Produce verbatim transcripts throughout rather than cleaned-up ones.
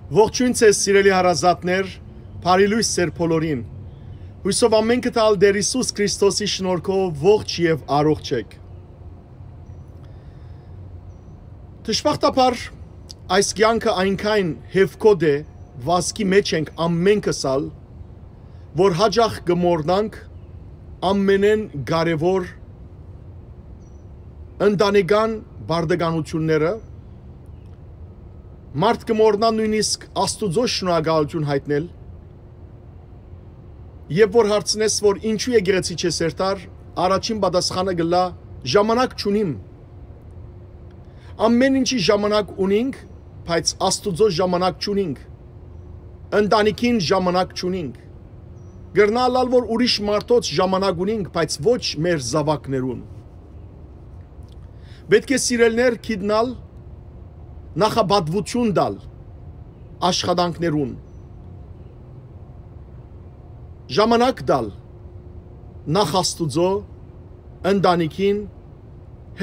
Ողջոյն ձեզ, սիրելի հարազատներ, բարի լոյս ձեր բոլորին։ Հոյսով ամէնքը տալ Տեր Յիսուս Քրիստոսի շնորհքով ողջ եւ առողջ եք։ Դժբախտաբար, այս կեանքը այնքան հեւքոտ է, վազքի մեջ ենք ամէնքս ալ, որ հաճախ կը մոռնանք ամենէն կարեւոր ընտանեկան պարտականութիւնները, մարդ կը մոռնայ նոյնիսկ Աստուծոյ շնորհակալութիւն յայտնել։ Երբ որ հարցնես, որ ինչու եկեղեցի չես հերթար, առաջին պատասխանը կ'ըլլայ. «Ժամանակ չունիմ»։ Ամէն ինչի ժամանակ ունինք, բայց Աստուծոյ ժամանակ չունինք։ Ընտանիքին ժամանակ չունինք։ Կրնայ ըլլալ, որ ուրիշ մարդոց ժամանակ ունինք, բայց ոչ մեր զաւակներուն։ Պէտք է, սիրելիներ, գիտնալ, նախապատուութիւն տալ աշխատանքներուն, ժամանակ տալ նախ Աստուծոյ, ընտանիքին,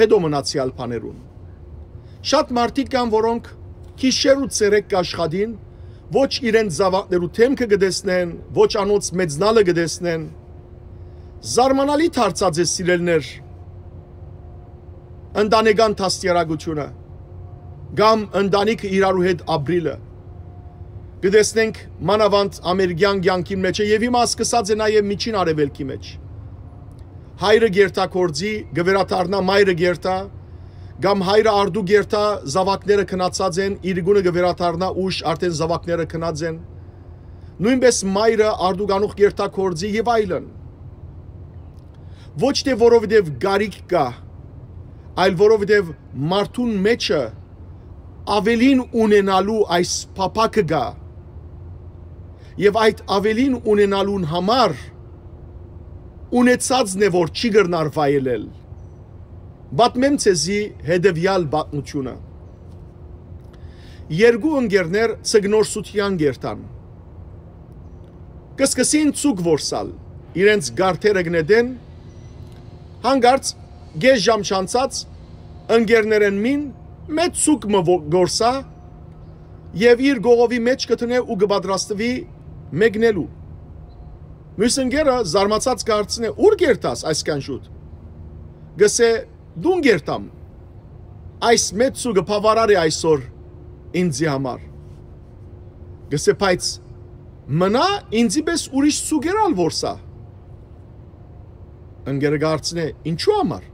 հետո մնացեալ բաներուն։ Շատ մարդիկ կան, որոնք գիշեր ու ցերեկ կ'աշխատին, ոչ իրենց զաւակներու դէմքը կը տեսնեն, ոչ անոնց մեծնալը կը տեսնեն։ Զարմանալի դարձած է, սիրելիներ, ընտանեկան դաստիարակութիւնը կամ ընտանիքը իրարու հետ ապրիլը։ Կը տեսնենք մանաւանդ ամերիկեան կեանքին մէջ է, եւ հիմա սկսած է նաեւ Միջին Արեւելքի մէջ։ Հայրը կ'երթայ գործի, կը վերադառնայ, մայրը կ'երթայ, կամ հայրը արդու կ'երթայ, զաւակները քնացած են, իրիկունը կը վերադառնայ ուշ, արդէն զաւակները քնած են։ Նոյնպէս մայրը արդու կանուխ կ'երթայ գործի եւ այլն։ Ոչ թէ որովհետեւ կարիք կայ, այլ որովհետեւ մարդուն մէջը աւելին ունենալու այս փափաքը կայ, եւ այդ աւելին ունենալուն համար ունեցածն է, որ չի կրնար վայելել։ Պատմեմ ձեզի հետեւեալ պատմութիւնը։ Երկու ընկերներ ձկնորսութեան կ'երթան։ Կը սկսին ձուկ որսալ, իրենց գարթերը կը նետեն, հանկարծ կէս ժամ չանցած ընկերներէն մին մեծ ձուկ մը ո-, կորսայ եւ իր կողովի մէջ կը դնէ ու կը պատրաստուի մեկնելու։ Միւս ընկերը զարմացած կը հարցնէ. «Ո՞ւր կ'երթաս այսքան շուտ»։ Կ'ըսէ. «Տուն կ'երթամ։ Այս մեծ ձուկը բաւարար է այսօր ինծի համար»։ Կ'ըսէ. «Բայց մնայ ինծի պէս ուրիշ ձուկեր ալ որսայ»։ Ընկերը կը հարցնէ. «Ինչու համար»։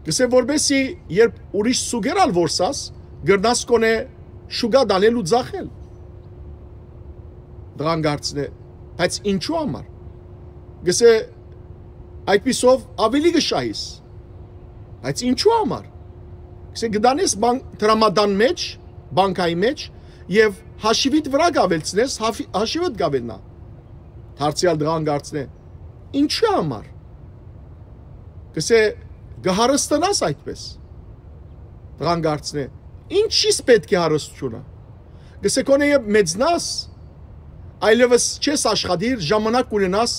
Կ'ըսէ. «Որպէսզի երբ ուրիշ ձուկեր ալ որսաս, կրնաս գոնե շուկա տանել ու ծախել»։ Տղան կը հարցնէ. «Բայց ինչու համար»։ Կ'ըսէ. «Այդպիսով աւելի կը շահիս»։ «Բայց ինչու համար»։ Կ'ըսէ. «Կը տանես բան-, դրամատան մէջ, բանկայի մէջ, եւ հաշիվիդ վրայ կ'աւելցնես, հաֆի-, հաշիվդ կ'աւելնայ»։ Դարձեալ տղան կը հարցնէ. «Ինչու համար»։ Կ'ըսէ. «Կը հարստանաս այդպէս»։ Տղան կը հարցնէ. «Ինչի՞ս պէտք է հարստութիւնը»։ Կ'ըսէ. «Գոնե երբ մեծնաս, այլեւս չես աշխատիր, ժամանակ կ'ունենաս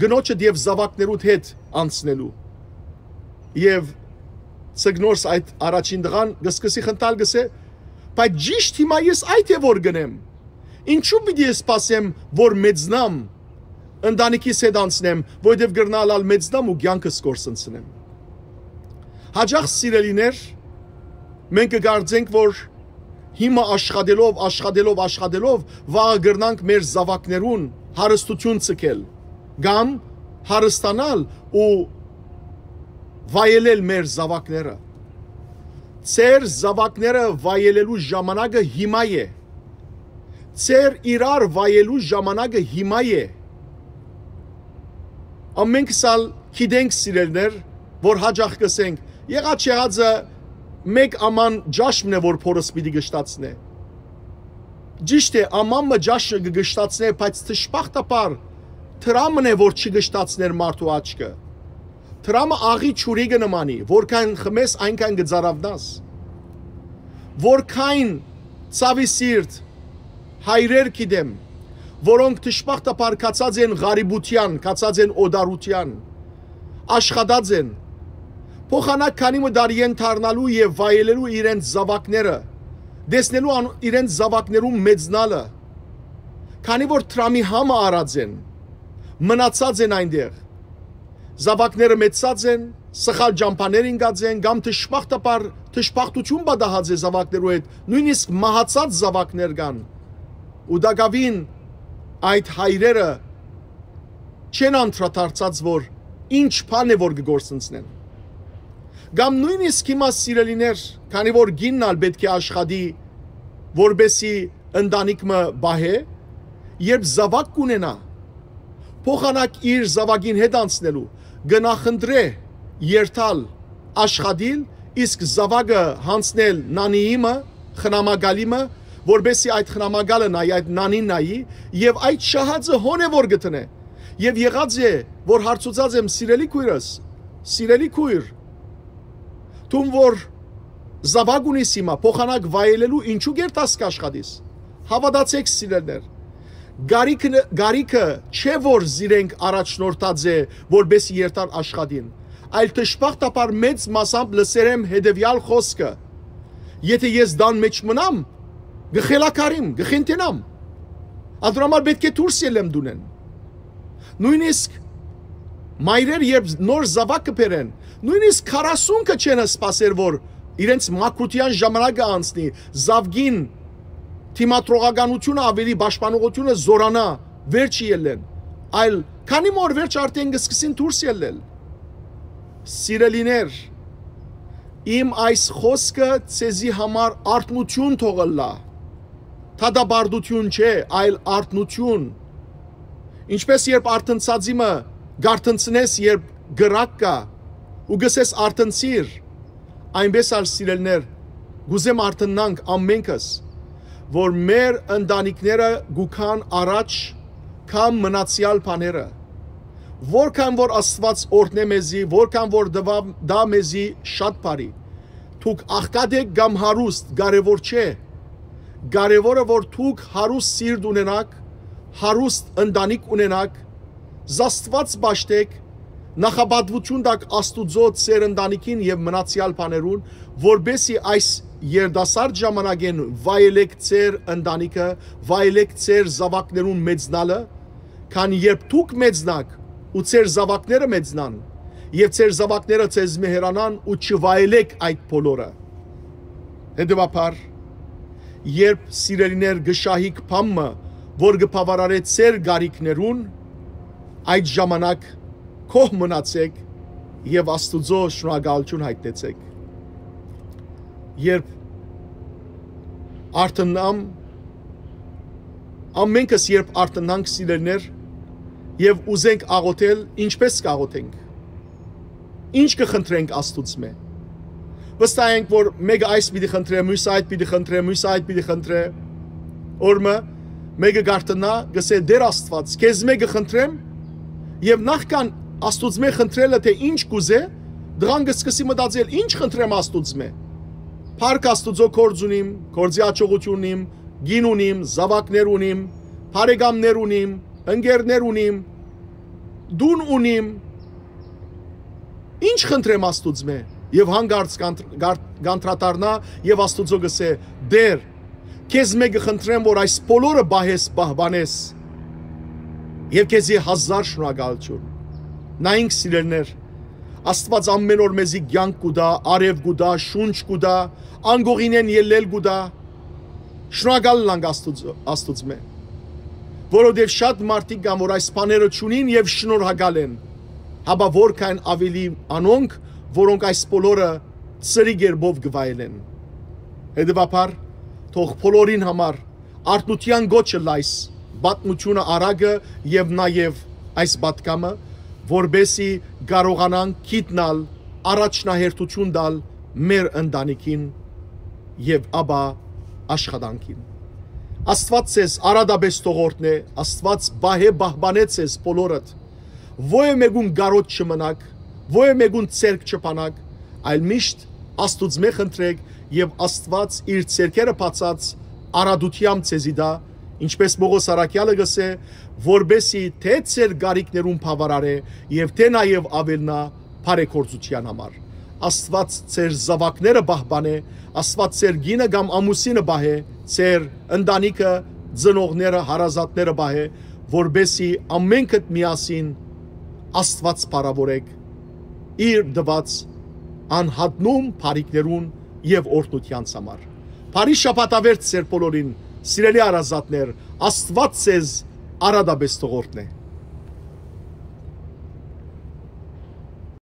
կնոջդ եւ զաւակներուդ հետ անցնելու»։ Եւ ձկնորս, այդ առաջին տղան, կը սկսի խնդալ, կ'ըսէ. «Բայց ճիշդ հիմա ես այդ է որ կ'ընեմ։ Ինչու պիտի սպասեմ, որ մեծնամ, ընտանիքիս հետ անցնեմ, որովհետեւ կրնայ ալ մեծնամ ու կեանքս կորսնցնեմ»։ Հաճախ, սիրելիներ, մենք կը կարծենք, որ հիմա աշխատելով, աշխատելով, աշխատելով, վաղը կրնանք մեր զաւակներուն հարստութիւն ցկել կամ հարստանալ ու վայելել մեր զաւակները։ Ձեր զաւակները վայելելու ժամանակը հիմա է։ Ձեր իրար վայելու ժամանակը հիմա է։ Ամենքս ալ գիտենք, սիրելիներ, որ հաճախ կ'ըսենք. «Եղած եղածը, մեկ աման ճաշ մն է, որ փորս պիտի կշտացնէ»։ Ճիշդ է, աման մը ճաշը կը կշտացնէ, բայց դժբախտաբար դրամն է, որ չի կշտացներ մարդու աչքը։ Դրամը աղի ջուրի կը նմանի, որքան խմես, այնքան կը ծարաυνաս։ Որքան ցաւի սիրտ հայրեր գիտեմ, որոնք դժբախտաբար գացած են ղարիբութեան, գացած են օտարութեան, աշխատած են, փոխանակ քանի մը տարի են դառնալու եւ վայելելու իրենց զաւակները, տեսնելու ան իրենց զաւակներուն մեծնալը, քանի որ դրամի համը առած են, մնացած են այնտեղ։ Զաւակները մեծցած են, սխալ ճամբաներ ինկած են, կամ դժբախտաբար դժբախտութիւն պատահած է զաւակներու հետ, նոյնիսկ մահացած զաւակներ կան։ Ու տակաւին այդ հայրերը չեն անդրադարձած, որ ինչ բան է, որ կը գործընծնեն։ Կամ նոյնիսկ հիմա, սիրելիներ, քանի որ կինն ալ պէտք է աշխատի, որպեսզի ընտանիք մը պահէ, երբ զաւակ կունենայ, փոխանակ իր զաւակին հետ անցնելու, կը նախընտրէ երթալ աշխատիլ, իսկ զաւակը յանցնել նանիի մը, խնամակալի մը, որպեսզի այդ խնամակալը նայի, այդ նանին նայի, եւ այդ շահածը հոն է որ գտնէ։ Եւ եղած է, որ հարցուցած եմ. «Սիրելի քոյրս, սիրելի քոյր, դուն որ զաւակ ունիս հիմա, փոխանակ վայելելու, ինչու կերտաս կաշխատիս»։ Հաւատացէք, սիրելիներ, գարիքը, գարիքը չէ որ զիրենք առաջնորդած է, որպեսզի երթան աշխատին, այլ դժբախտաբար մեծ մասամբ լսեր եմ հետեւեալ խօսքը. «Եթէ ես տան մէջ մնամ, կը խելագարիմ, կը խենթենամ։ Անդրամար պէտք է դուրս ելեմ տունէն»։ Նոյնիսկ մայրեր, երբ նոր զաւակ կը բերեն, նոյնիսկ քառասունքը չեն սպասեր, որ իրենց մաքրութեան ժամանակը անցնի, զաւկին դիմադրողականութիւնը, աւելի պաշտպանողութիւնը զօրանայ, վերջ ելլեն, այլ քանի մը օր վերջ արդէն կը սկսին դուրս ելլել։ Սիրելիներ, իմ այս խօսքը ձեզի համար արթնութիւն թող ըլլայ, դատապարտութիւն չէ, այլ արթնութիւն։ Ինչպէս երբ արթնցածի մը կարթնցնես, երբ կրակ կայ, ու կ'ըսես. «Արթնցիր», այնպէս ալ, սիրելիներ, կ'ուզեմ արթննանք ամենքս, որ մեր ընտանիքները կու գան առաջ քան մնացեալ բաները։ Որքան որ Աստուած օրհնէ մեզի, որքան որ տուայ, տայ մեզի շատ բարի։ Դուք աղքատ էք կամ հարուստ, կարեւոր չէ։ Կարեւորը որ դուք հարուստ սիրտ ունենաք, հարուստ ընտանիք ունենաք, զաստուած պաշտէք, նախապատուութիւն տաք Աստուծոյ, ձեր ընտանիքին եւ մնացեալ բաներուն, որպէսզի այս երիտասարդ ժամանակէն վայելէք ձեր ընտանիքը, վայելէք ձեր զաւակներուն մեծնալը, քան երբ դուք մեծնաք ու ձեր զաւակները մեծնան, եւ ձեր զաւակները ձեզմէ հեռանան ու չվայելէք այդ բոլորը։ Հետեւաբար, երբ, սիրելիներ, կը շահիք բան մը, որ կը բաւարարէ ձեր կարիքներուն, այդ ժամանակ գոհ մնացէք եւ Աստուծոյ շնորհակալութիւն յայտնեցէք։ Երբ արթնամ, ամենքս երբ արթնանք, սիրելիներ, եւ ուզենք աղոթել, ինչպէս կ'աղոթենք։ Ինչ կը խնդրենք Աստուծմէ։ Վստահ ենք, որ մէկը այս պիտի խնդրէ, մյուսը այդ պիտի խնդրէ, մյուսը այդ պիտի խնդրէ։ Օրը մը մէկը կարթնայ, կ'ըսէ. «Տէր Աստուած, քեզմէ կը խնդրեմ»։ Եւ նախքան Աստուծմէ խնդրելը, թէ ինչ կ'ուզէ, տղան կը սկսի մտածել. «Ինչ խնդրեմ Աստուծմէ։ Փառք Աստուծոյ, գործ ունիմ, գործի յաջողութիւն ունիմ, կին ունիմ, զաւակներ ունիմ, բարեկամներ ունիմ, ընկերներ ունիմ, տուն ունիմ, ինչ խնդրեմ Աստուծմէ»։ Եւ հանկարծ կանդ-, կար-, կանդրադառնայ եւ Աստուծոյ կ'ըսէ. «Տէր, քեզմէ կը խնդրեմ, որ այս բոլորը պահես, պահպանես, եւ քեզի հազար շնորհակալութիւն»։ Նայինք, սիրելիներ, Աստուած ամէն օր մեզի կեանք կու տայ, արեւ կու տայ, շունչ կու տայ, անկողինէն ելլել կու տայ։ Շնորհակալ ըլլանք Աստուծո-, Աստուծմէ, որովհետեւ շատ մարդիկ կան, որ այս բաները չունին եւ շնորհակալ են, հապա որքան աւելի անոնք, որոնք այս բոլորը ծրի կերպով կը վայելեն։ Հետեւաբար, թող բոլորին համար արթնութեան կոչ ըլլայ այս պատմութիւնը, արագը եւ նաեւ այս պատգամը, որպէսզի կարողանանք գիտնալ, առաջնահերթութիւն տալ մեր ընտանիքին եւ ապա աշխատանքին։ Աստուած ձեզ արատապէս թող օրհնէ, Աստուած պահէ, պահպանէ ձեզ բոլորդ, ոեւէ մէկուն կարօտ չմնաք, ոեւէ մէկուն ձեռք չփանաք, այլ միշտ Աստուծմէ խնդրէք եւ Աստուած իր ձեռքերը բացած արատութեամբ ձեզի տայ, ինչպէս Պօղոս առաքեալը կ'ըսէ, որպէսզի թէ ձեր կարիքներուն բաւարարէ եւ թէ նաեւ աւելնայ բարեգործութեան համար։ Աստուած ձեր զաւակները պահպանէ, Աստուած ձեր կինը կամ ամուսինը պահէ, ձեր ընտանիքը, ծնողները, հարազատները պահէ, որպէսզի ամենքդ միասին Աստուած փառաւորէք իր տուած անհատնում բարիքներուն եւ օրհնութեանց համար։ Բարի շաբաթավերջ ձեր բոլորին, սիրելի հարազատներ, Աստուած ձեզ արատապէս թող օրհնէ։